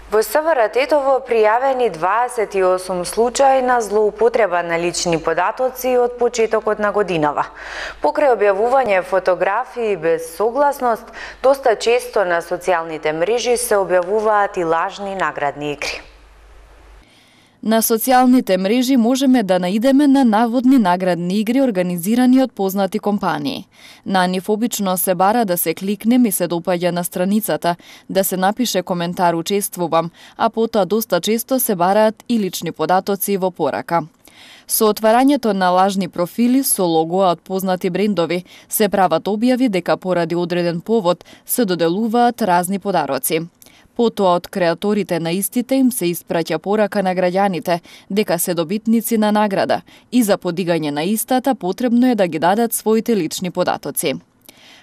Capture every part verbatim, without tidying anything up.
Во СВР Тетово пријавени дваесет и осум случаи на злоупотреба на лични податоци од почетокот на годинава. Покрај објавување фотографии без согласност, доста често на социјалните мрежи се објавуваат и лажни наградни игри. На социјалните мрежи можеме да наидеме на наводни наградни игри организирани од познати компании. На нив обично се бара да се кликнем и се допаѓа на страницата, да се напише коментар учествувам, а потоа доста често се бараат и лични податоци во порака. Со отварањето на лажни профили со логоа од познати брендови се прават објави дека поради одреден повод се доделуваат разни подароци. Потоа од креаторите на истите им се испраќа порака на граѓаните дека се добитници на награда и за подигање на истата потребно е да ги дадат своите лични податоци.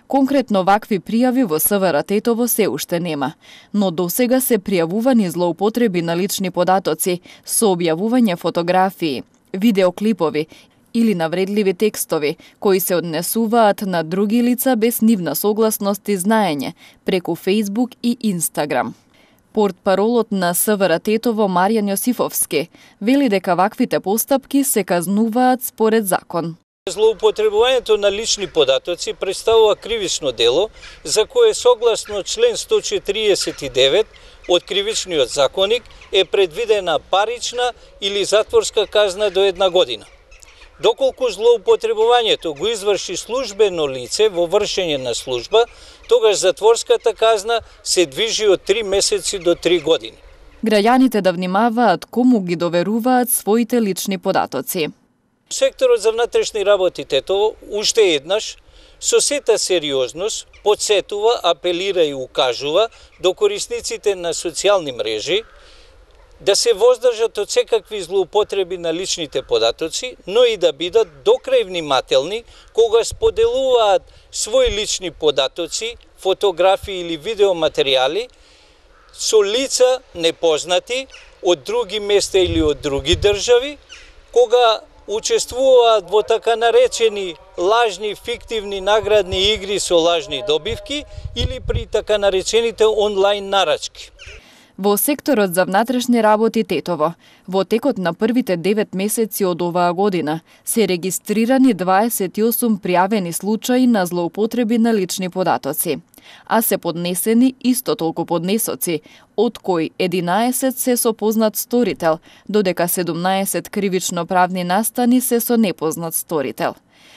Конкретно вакви пријави во СВР Тетово се уште нема, но досега се пријавувани злоупотреби на лични податоци со објавување фотографии, видеоклипови или навредливи текстови кои се однесуваат на други лица без нивна согласност и знаење преку Facebook и Instagram. Портпаролот на СВР Тетово Маријан Јосифовски вели дека ваквите постапки се казнуваат според закон. Злоупотребувањето на лични податоци представува кривично дело за кое согласно член сто четиридесет и девет од Кривичниот законник е предвидена парична или затворска казна до една година. Доколку злоупотребувањето го изврши службено лице во вршење на служба, тогаш затворската казна се движи од три месеци до три години. Граѓаните да внимаваат кому ги доверуваат своите лични податоци. Секторот за внатрешни работи Тетово уште еднаш со сета сериозност подсетува, апелира и укажува до корисниците на социјални мрежи да се воздржат од секакви злоупотреби на личните податоци, но и да бидат докрај внимателни кога споделуваат свои лични податоци, фотографии или видеоматеријали со лица непознати од други места или од други држави, кога учествуваат во така наречени лажни фиктивни наградни игри со лажни добивки или при така наречените онлайн нарачки. Во секторот за внатрешни работи Тетово, во текот на првите девет месеци од оваа година, се регистрирани дваесет и осум пријавени случаи на злоупотреби на лични податоци, а се поднесени исто толку поднесоци, од кои единаесет се со познат сторител, додека седумнаесет кривично-правни настани се со непознат сторител.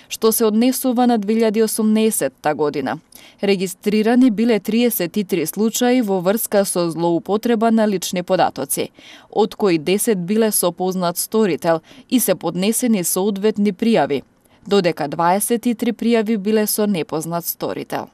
Што се однесува на две илјади и осумнаесетта година. Регистрирани биле триесет и три случаи во врска со злоупотреба на лични податоци, од кои десет биле со познат сторител и се поднесени соодветни пријави, додека дваесет и три пријави биле со непознат сторител.